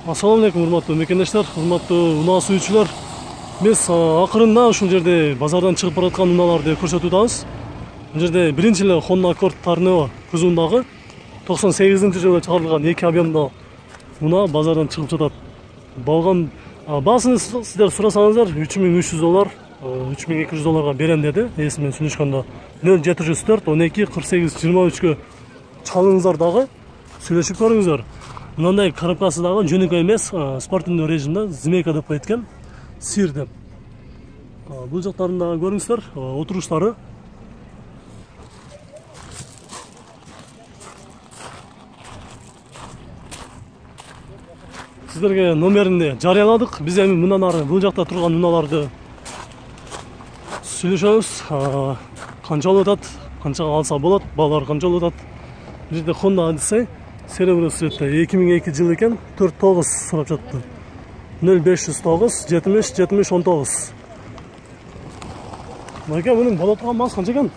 Ассаламу алейкум, урматтуу мекендештер, урматтуу унаа сүйүүчүлөр. Биз акырында ушул жерде базардан чыгып бараткан унааларды көрсөтүп атабыз. Бул жерде биринчи эле Honda Accord Tornado кузовундагы 98-жылы чыгарылган 2 объемдо унаа базардан чыгып жатат. Балган баасын сиздер сурасаңыздар $3300, $3200 берем деди. Эси менен сүйлөшкөндө 0704 12 48 23 чалыңыздар дагы сүйлөшүп көрүңүздөр. Мынандай коробкасы дагы жөнөкөй эмес, спортивный режимде змейка деп коет экен, сир деп. Бул жактарын дагы көрүңүздөр, отуруштары. Сиздерге номерин жарыяладык. Биз эми мындан ары бул жакта турган унааларды сүйлөшөбүз. Канчалып атат, канчага алса болот, баалар канчалып атат. Бул жерде Honda Odyssey серебро цветте 2002 жыл экен, 49 сурап жатты. 0509 70 70 19. Майка мунун боло турган баасы канча экен?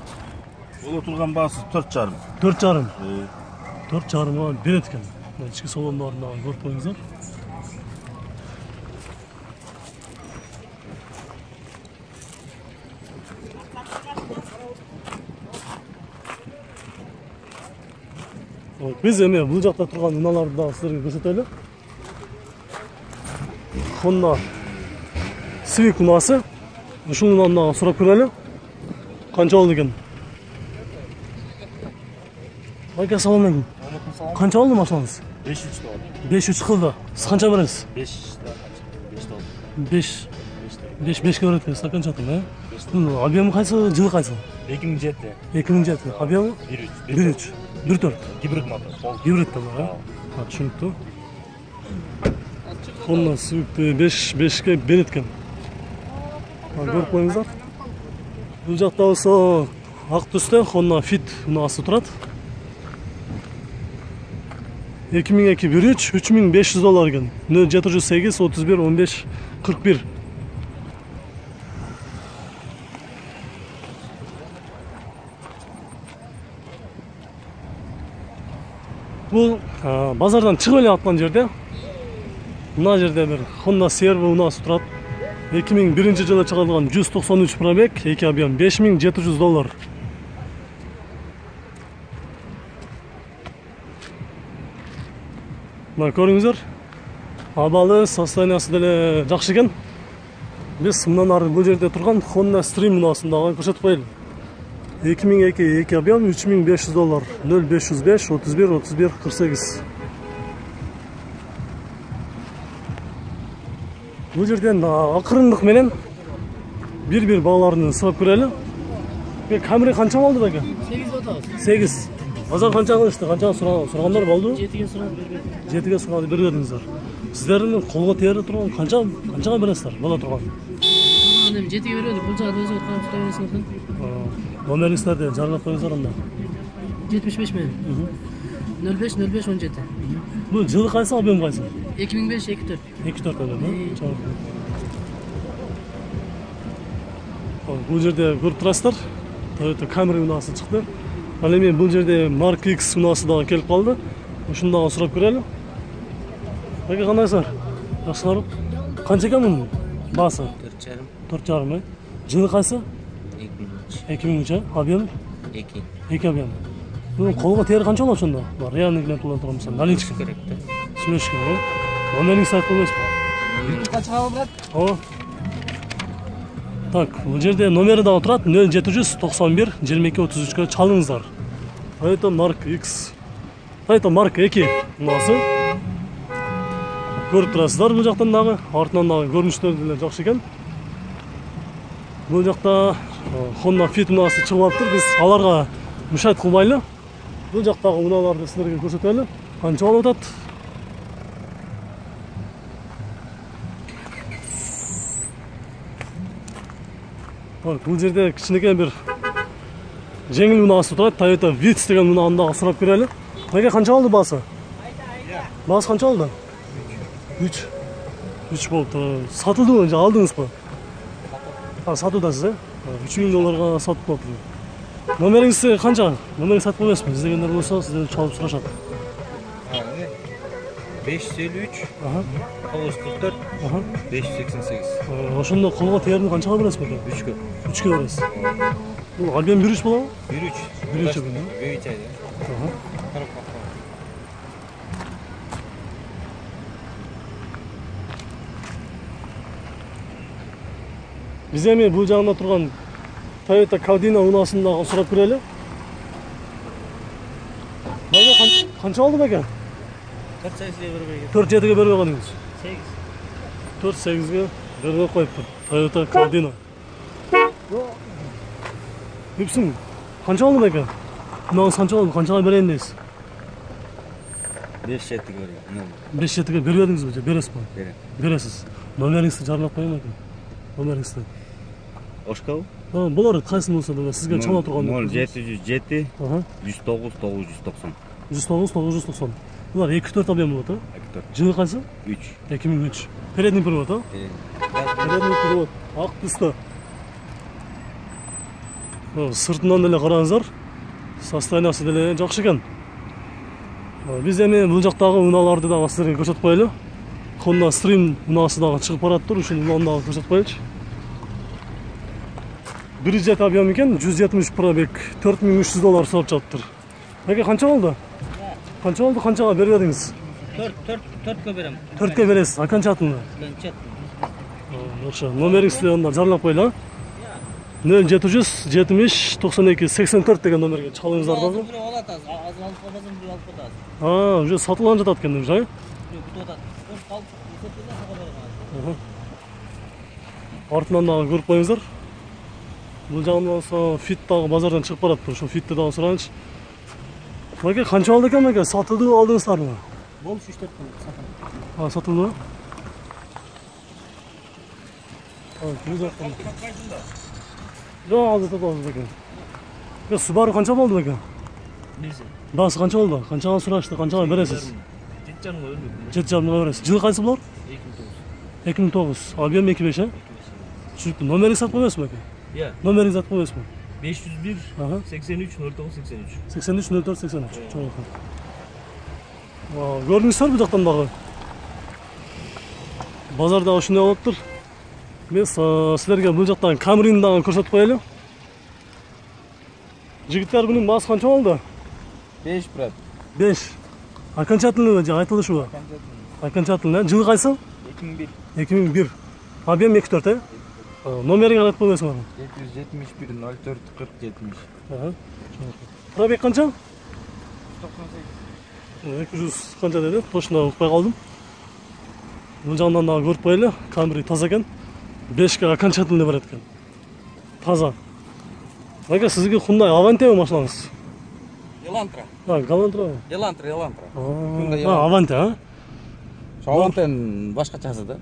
Боло турган баасы 4,5. 4,5. 4,5 берет экен. Ички салондарын дагы көрүп коюңуздар. Биз эми бул жакта турган унааларды дагы сиздерге көрсөтөлү. Honda Civic унаасы. Ушул унааны дагы сурап көрөлү. Канча болду экен? Майка, салам алейкум. Канча болду машинаңыз? 5,3 болду. 5,3 кылды. Сиз канча бересиз? 5 5ке берет экенсиз, канча аттым, э? Объемы кайсы, жылы кайсы? 2007. 2007. Объемы 1,3. 1,4. Гибрид мотор. Гибрид да, түшүнүктүү. Honda Civic'ти 5ке берет экен. Көрүп коюңуздар. Бул жакта болсо ак түстө Honda Fit унаасы турат. 2002 1,3 $3500 экен. 0708 31 15 41. Бул базардан чыгып эле аткан жерде. Мына жерде бир Honda Servo унаасы турат. 2001 жылы чыгарылган 193 пробег, 2 объем, $5700. Мына көрүңүздөр. Абалы, состояниясы деле жакшы экен. Биз мындан ары бул жерде турган Honda Stream унаасын дагы көрсөтүп коелу. 2002 2 объем, $3500, 0505 31 31 48. Бул жерден акырындык менен бир бааларын сурап көрөлү. Камера канча болду беке? 8 болду. 8. Базар канча кылышты? Канча сурагандар болду? 7ге сурап бербедим. 7ге сурап бербедиңиздер. Сиздердин колго тере турган канчага бересиздер? Боло турган. Эми 7ге бербедик. Бул жагы өзү карап тура бересиң. Номериңиздерди жарыяп коюңуздар анда. 75 менен. 05 05 17. Бул жылы кайсы, объем кайсы? 2005 24. 24 эле, бул жерде көрүп турасыздар. Toyota Camry унаасы чыкты. Ал эми бул жерде Mark X унаасы дагы келип калды. Ушуну дагы сурап көрөлү. Бака кандайсыздар? Жакшыларбы? Канча экен мунун баасы? 4,5. 4,5, Жылы кайсы? 2003. Объем? 2 объем. Бул колго тери канча болот ошондо? Реальный клиент боло турган болсо, наличка керек да. Сүйлөшүш керек. Номериңизди айтып коесузбу? Канчага брат? Так, бул жерде номери дагы турат. 0791 22 33 чалыңыздар. Toyota Mark X. Toyota Mark 2 унаасы. Көрүп турасыздар бул жактан дагы, артынан дагы көрүнүштөр деле жакшы экен. Бул жакта Honda Fit унаасы чыгып алыптыр. Биз аларга мушайт кылбайлы. Бул жактагы унааларды силерге көрсөтөлү. Канча болуп атат? Бул жерде кичинекей бир жеңил унаасы турат. Toyota Vitz деген унааны дагы сурап көрөлү. Мага канча болду баасы? Баасы канча болду? 3 болду. Сатылдыбы же алдыңызбы? Сатуудасыз, э? $3000 сатып атып. Номериңиз канча? Номериңизди айтып коесузбу? Издегендер болсо сизден чалып сурашат. 553 Аха. 944 Аха. 588. Ошондо колго терине канчага бересиз бекен? 3'кө. 3-кө бересиз. Бул альбом 1-3 болобу? 1-3. 1-3 экен, да? Бейт айда. Аха. Карап бакка. Биз эми бул жагында турган Toyota Caldina унасын дагы сурап көрөлү. Бага канча алды бекен? 4-8'e бербейген. 4-7-ге бербей калдыңыз. 8. 4-8-ге бербей коюптур. Toyota Caldina. Үпсүң. Канча алды бекен? Мынагы канча алды? Канчага берейин дейсиз? 5-7'e бербейген. 5-7-ге бербедиңизби же бересизби? Берем. Бересиз. Номериңизди жарыйлап коеюн экен. Номериңизди. Ошкабы? Болор, кайсын болсо да сизге чала турган. 0707 Ага. 109 990. 109 990. Булар 2-4 объем болот, а? 2-4. Жылы кайсы? 3. 2003. Передний привод, а? Передний привод. Ак түсті. Сыртынан деле караңыздар. Состояниясы деле жакшы экен. Биз эми бул жактагы унааларды дагы сиздерге көрсөтүп коелу. Honda Stream унаасы дагы чыгып бараттыр, ушул унаны дагы көрсөтүп коелучу. 1.7 объем экен, 170 пробег, $4300 сурап жатыптыр. Эке канча болду? Канча болду, канчага бербедиңиз? 4'кө берем. 4-кө бересиз, а канча атында? Канча? Жакшы, номериңизди онда жарлап коелу, а? 0770 92 84 деген номерге чалыңыздар дагы. Бирөө алат азыр алып калбасам бирөө алып калат. Уже сатылган жатат экен уже, а? Бирөө күтүп атат. Калып сатылган сага берем. Артынан дагы көрүп коюңуздар. Бул жагынан болсо Fit дагы базардан чыгып барат. Ошо Fitти дагы суранычы. Мага канча алды экен мага? Сатылды алдыңыздарбы? Болуш 3-4 күн сатам. Сатылды. Жүз аттан. Жок, алды топалды экен. Subaru канча болду экен? Биз. Басы канча болду? Канчага сурашты, канчага бересиз? 7,5 бербейм. 7,5 бересиз. Жылы кайсы булар? 2009. Объем 2.5, а? Түшүнүктүү. Номериңизди айтып коесузбу эке? Иә. Номериңизди айтып коесузбу? 501 Ага. 83 09 83. 83 04 83. Чоң экен. Көрдүңүздөр бул жактан дагы. Базарда ушундай болуптур. Мен силерге бул жактан Camry'ни дагы көрсөтүп коелу. Жигиттер bunun басы канча болду? 5 брат. 5. А канча атылды же айтылышыбы? Канча атылды? Жылы кайсы? 2001. 2001. Объем 2.4, э? Номериңди айтып коесуңарбы? 771 04 40 70. Пробег канча? 200 канча деди? Точно укпай калдым. Бул жагынан дагы көрүп коелу. Camry таза экен. 5 канча атылды берет экен. Таза. Ага, сизге Hyundai Avante машинаңыз? Elantra. Galantra. Elantra. Avante, а? Avantен башкачасы да.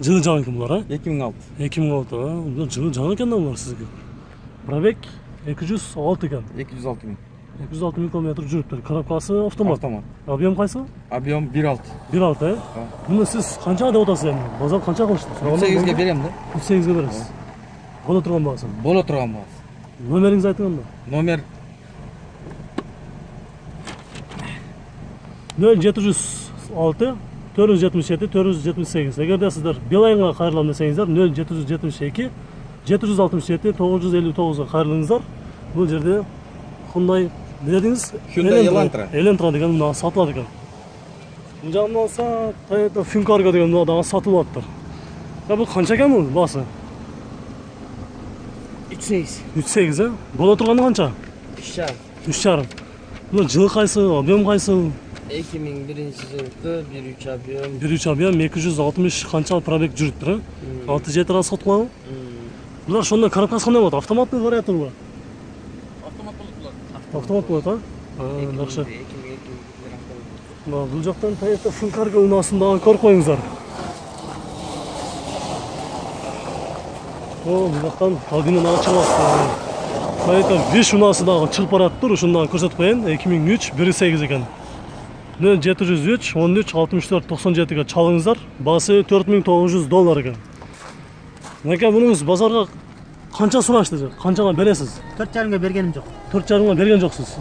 Жылы жаңы экен булар, а? 2006. 2006, а? Жылы жаңы экен да булар сизге. Пробег 206 экен. 206 миң. 206 миң километр жүрүптүр. Коробкасы автомат. Автомат. Объем кайсы? Объем 1.6. 1.6, э? Муну сиз канчага деп атасыз эми? Базар канча кылышты? 8'e берем да. 8'ге бересиз. Боло турган багасы. Боло турган багасы. Номериңизди айтыңыз анда. Номер 0706 477 478. Эгерде сиздер Билайнга кайрылам десеңиздер 0772 767 959га кайрылыңыздар. Бул жерде Hyundai дедиңиз? Hyundai Elantra. Elantra деген мына сатылат экен. Бул жагынан алса Toyota Funcargo деген мына дагы сатылып атыптыр. Бул канча экен бул басы? 3.8, э? Боло турганы канча? 3.5. Бул жылы кайсы, объем кайсы? 2001-жылкы 1.3 объем. 1.3 объем 260 канча пробег жүрүптүр, э? 6-7 раз саткылабы? Булар ошондой коробкасы кандай болот? Автоматтуу варианты булар? Автомат болот булар. Автомат болот, а? Жакшы. Бул жактан Toyota Funcargo унасын дагы көрүп коюңуздар. Бул жактан Caldina дагы чыгып атты. Toyota Wish унасы дагы чыгып бараттыр. Ушуну дагы көрсөтүп коеюн. 2003 1.8 экен. 0703 13 64 97ге чалыңыздар. Басы $4900 экен. Мынакей мунуңуз базарга канча сурашты же? Канчага бересиз? 4,5га бергеним жок. 4,5га берген жоксуз.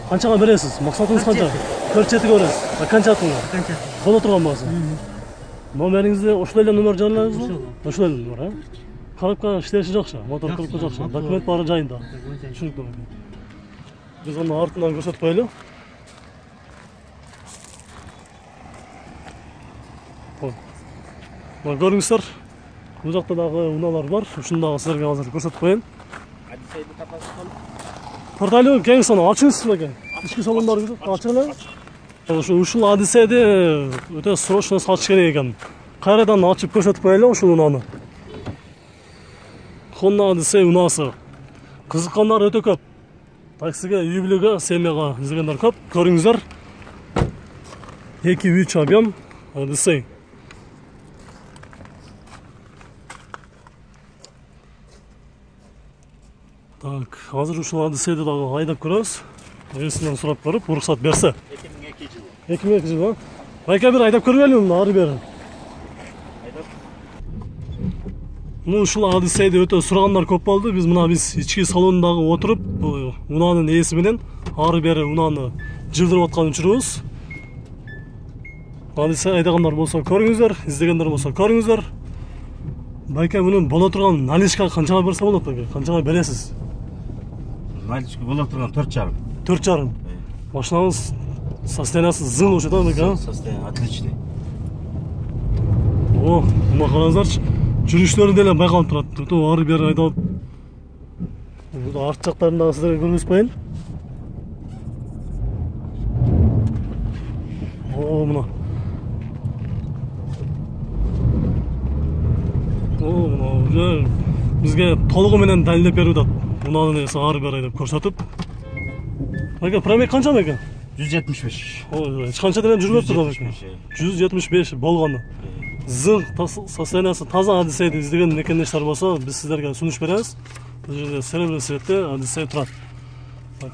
Канчага бересиз? Максатыңыз канча? 4,7ге бересиз. Канча атыңыз? Канча? боло турган баасы. Номериңизди ошол эле номер жарыялайсызбы? Ошол эле номер, а? Коробка иштеши жакшы, мотор коробка жакшы, документ баары жайында. Түшүнүктүү. Биз аны артынан көрсөтүп коелу. Мына көрүңүздөр, бул жакта дагы унаалар бар. Ушуну дагы силерге азыр көрсөтүп коеюн. Порталю кең соно ачыңыз экен. Ички салондорубузду ачыңыз. Ушул Одиссейди өтө срочно сатыш керек экен. Кайрадан ачып көрсөтүп коелу ушул унааны. Honda Odyssey унаасы. Кызыккандар өтө көп. Таксиге, үй бүлөгө, семьяга издегендер көп. Көрүңүздөр. 2-3 объем Odyssey. Так, азыр ушул Odysseyди дагы айдап көрөбүз. Ээсинен сурап көрүп, уруксат берсе. 2002 жылы. 2002 жылы. Байка бир айдап көргөнүм, ары бери. Ушул Odysseyди өтө сурагандар көп болду. Биз ички салондагы отуруп, унаанын ээси менен ары бери унааны жылдырып аткан учурубуз. Odyssey айдагандар болсо көрүңүздөр, издегендер болсо көрүңүздөр. Байка мунун боло турган наличка канчага берсе болот байка? Канчага бересиз? Наличка боло турган 4,5. 4,5. Машинаңыз состояниясы зыл болчу да байка? Состояние отличный. О, мына караңыздарчы. Жүрүштөрү деле байкалып турат. Өтө ары бери айдалып. Бул арт жактарын дагы сиздерге көрсөтүп коеюн. О, мына. О, мына бизге толугу менен далилдеп берип атат. Унаанын ээси ары бери айдап көрсөтүп. Байка, пробег канча байка? 175. Ой, эч канча деле жүрбөптүр да байка. 175 болгону. Зыл состояниясы таза Odysseyди издеген мекендештер болсо, биз сиздерге сунуш беребиз. Бул жерде серебряный цветте Odyssey турат.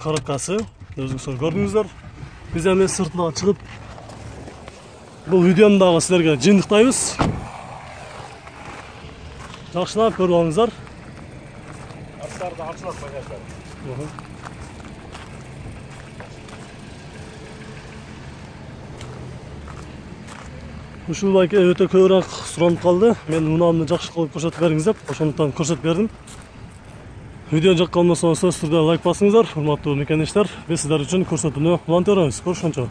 Коробкасы өзүңүздөр көрдүңүздөр. Биз эми сыртына чыгып бул видеону дагы сиздерге жыйынтыктайбыз. Жакшылап көрүп алыңыздар. Аттарды ачылат багаждар. Ушул байке өтө көбүрөөк суранып калды. Мен унаамды жакшы кылып көрсөтүп бериңиз деп, ошондуктан көрсөтүп бердим. Видео жаккан болсо сөзсүз түрдө лайк басыңыздар, урматтуу мекендештер. Биз сиздер үчүн көрсөтүүнү улантып беребиз. Көрүшкөнчө.